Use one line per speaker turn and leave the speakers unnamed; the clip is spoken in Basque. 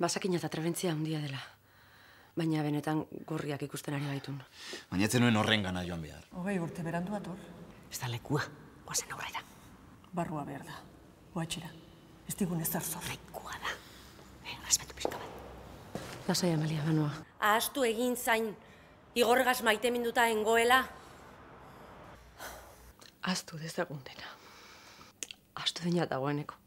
Basakina eta trebentzia handia dela. Baina benetan gorriak ikusten ari baitun.
Baina etzen nuen horren gana joan behar.
20 urte berandu ator.
Ez da lekua, guazen aurrera.
Barrua behar da. Guatxera. Ez digun ezer zor.
Lekua da. Respetu pixka bat.
Lasai, Amalia, Banoa.
Ahaztu egin zain. Igorregaz maite minduta engoela.
Ahaztu dezagun dena. Ahaztu dena dagoeneko.